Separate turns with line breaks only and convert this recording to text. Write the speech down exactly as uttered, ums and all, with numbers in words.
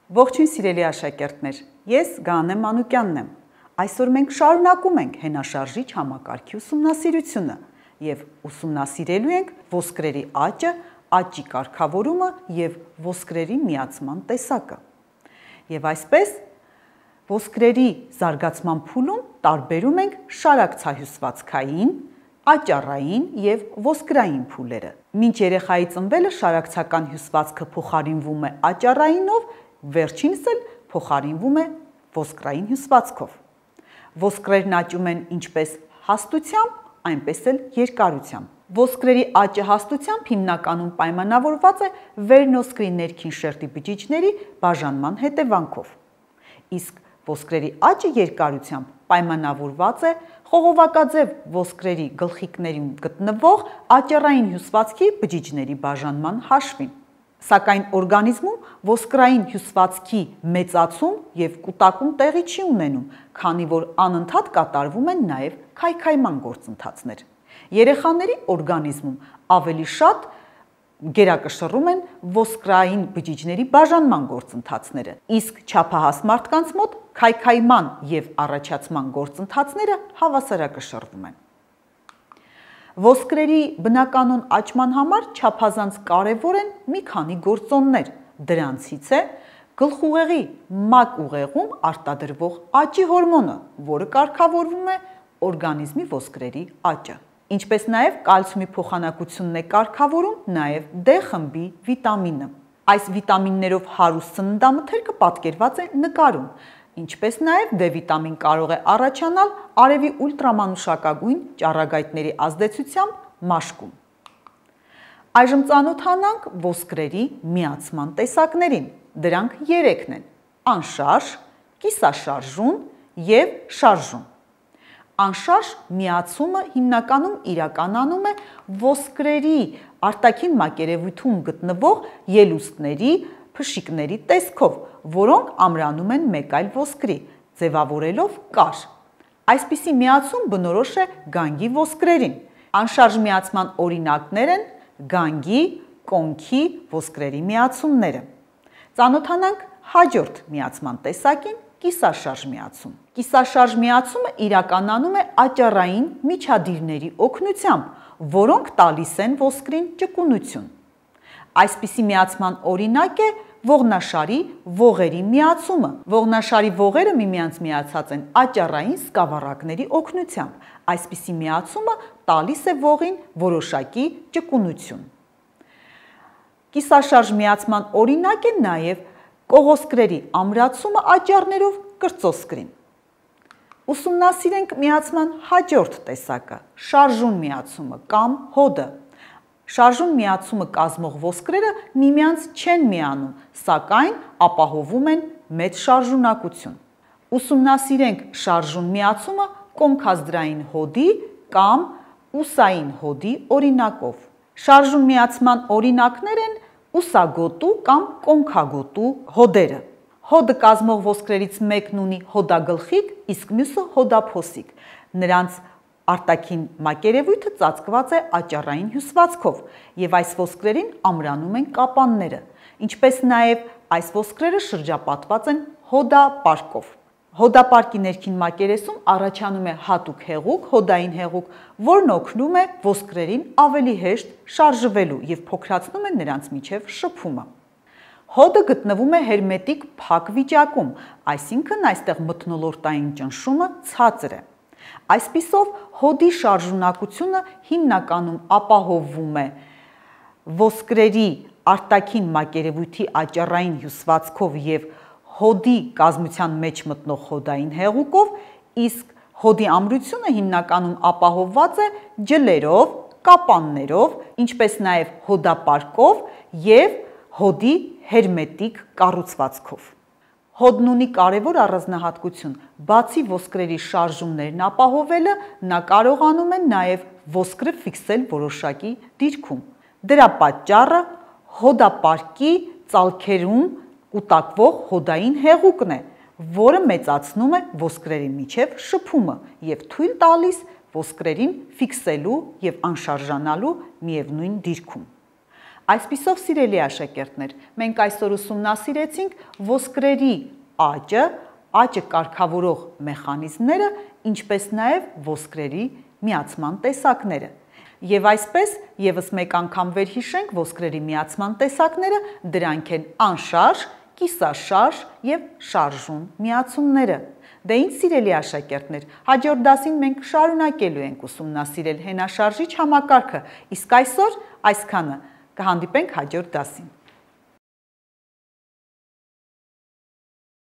Ողջույն սիրելի աշակերտներ, ես Գաներ Մանուկյանն եմ։ Այսօր մենք շարունակում ենք հենաշարժիչ համակարգի ուսումնասիրությունը և ուսումնասիրելու ենք ոսկրերի աճը, աճի կարգավորումը և ոսկրերի միացման տեսակը։ Եվ այսպես, ոսկրերի զարգացման փուլում տարբերում ենք շարակցահյուսվածքային, աճառային և ոսկրային փուլերը։ Մինչ երեխայի ծնվելը շարակցական հյուսվածքը փոխարինվում է աճառայինով, վերջինս էլ փոխարինվում է ոսկրային հյուսվածքով։ Ոսկրերն աճում են ինչպես հաստությամբ, այնպես էլ երկարությամբ։ Ոսկրերի աճը հաստությամբ հիմնականում պայմանավորված է վերնոսկրի ներքին շերտի բջիջների բաժանման հետևանքով, իսկ ոսկրերի աճը երկարությամբ պայմանավորված է խողովակաձև ոսկրերի գլխիկներում գտնվող աճառային հյուսվածքի բջիջների բաժանման հաշվին։ Սակայն օրգանիզմում ոսկրային հյուսվածքի մեծացում և կուտակում տեղի չի ունենում, քանի որ անընդհատ կատարվում են նաև քայքայման գործընթացներ։ Երեխաների օրգանիզմում ավելի շատ գերակշռում են ոսկրային բջիջների բաժանման գործընթացները, իսկ չափահաս մարդկանց մոտ քայքայման և առաջացման գործընթացները հավասարակշռվում են։ Ոսկրերի բնականոն աճման համար չափազանց կարևոր են մի քանի գործոններ, դրանցից է գլխուղեղի մակ ուղեղում արտադրվող աճի հորմոնը, որը կարգավորում է օրգանիզմի ոսկրերի աճը, ինչպես նաև կալցիումի փոխանակությունն է կարգավորում նաև D խմբի վիտամինը։ Այս վիտամիններով հարուստ սննդամթերքը պատկերված է նկարում, ինչպես նաև D վիտամին կարող է առաջանալ արևի ուլտրամանուշակագույն ճառագայթների ազդեցությամբ մաշկում։ Այժմ ծանոթանանք ոսկրերի միացման տեսակներին։ Դրանք երեքն են՝ անշարժ, կիսաշարժուն և շարժուն։ Անշարժ միացումը հիմնականում իրականանում է ոսկրերի արտաքին մակերևույթում գտնվող ելուստների, փշիկների տեսքով, որոնք ամրանում են մեկ այլ ոսկրի, ձևավորելով կար։ Այսպիսի միացում բնորոշ է գանգի ոսկրերին։ Անշարժ միացման օրինակներ են գանգի, կոնքի ոսկրերի միացումները։ Ծանոթանանք հաջորդ միացման տեսակին՝ կիսաշարժ միացում։ Կիսաշարժ միացումը իրականանում է աճառային միջադիրների օգնությամբ, որոնք տալիս են ոսկրին ճկունություն։ Այսպիսի միացման օրինակ է ողնաշարի ողերի միացումը։ Ողնաշարի ողերը միմյանց միացած են աճառային սկավառակների օգնությամբ։ Այսպիսի միացումը տալիս է ողին որոշակի ճկունություն։ Կիսաշարժ միացման օրինակ է նաև կողոսկրերի ամրացումը աճառներով կրծոսկրին։ Ուսումնասիրենք միացման հաջորդ տեսակը՝ շարժուն միացումը կամ հոդը։ Շարժուն միացումը կազմող ոսկրերը միմյանց չեն միանում, սակայն ապահովում են մեծ շարժունակություն։ Ուսումնասիրենք շարժուն միացումը կոնքազդրային հոդի կամ ուսային հոդի օրինակով։ Շարժուն միացման օրինակներ են ուսագոտու կամ կոնքագոտու հոդերը։ Հոդը կազմող ոսկրերից մեկն ունի հոդագլխիկ, իսկ մյուսը հոդափոսիկ։ Նրանց արտաքին մակերևույթը ծածկված է աճառային հյուսվածքով, և այս ոսկրերին ամրանում են կապանները, ինչպես նաև այս ոսկրերը շրջապատված են հոդապարկով։ Հոդապարկի ներքին մակերեսում առաջանում է հատուկ հեղուկ, հոդային հեղուկ, որն օգնում է ոսկրերին ավելի հեշտ շարժվելու և փոքրացնում է նրանց միջև շփումը։ Հոդը գտնվում է հերմետիկ փակ վիճակում, այսինքն այստեղ մթնոլորտային ճնշումը ցածր է։ Այսպիսով, հոդի շարժունակությունը հիմնականում ապահովվում է ոսկրերի արտաքին մակերևույթի աճառային հյուսվածքով և հոդի կազմության մեջ մտնող հոդային հեղուկով, իսկ հոդի ամրությունը հիմնականում ապահովված է ջլերով, կապաններով, ինչպես նաև հոդապարկով և հոդի հերմետիկ կառուցվածքով։ Հոդն ունի կարևոր առանձնահատկություն, բացի ոսկրերի շարժումներն ապահովելը, նա կարողանում է նաև ոսկրը ֆիքսել որոշակի դիրքում։ Դրա պատճառը հոդապարկի ծալքերում կուտակվող հոդային հեղուկն է, որը մեծացնում է ոսկրերի միջև շփումը և թույլ տալիս ոսկրերին ֆիքսելու և անշարժանալու միևնույն դիրքում։ Այսպիսով, սիրելի աշակերտներ, մենք այսօր ուսումնասիրեցինք ոսկրերի աճը, աճը կարգավորող մեխանիզմները, ինչպես նաև ոսկրերի միացման տեսակները։ Եվ այսպես եւս մեկ անգամ վերհիշենք ոսկրերի միացման տեսակները, դրանք են անշարժ, կիսաշարժ եւ շարժուն միացումները։ Դե ինչ սիրելի աշակերտներ, հաջորդ դասին մենք շարունակելու ենք ուսումնասիրել հենաշարժիչ համակարգը, իսկ այսօր այսքանը, կհանդիպենք հաջորդ դասին։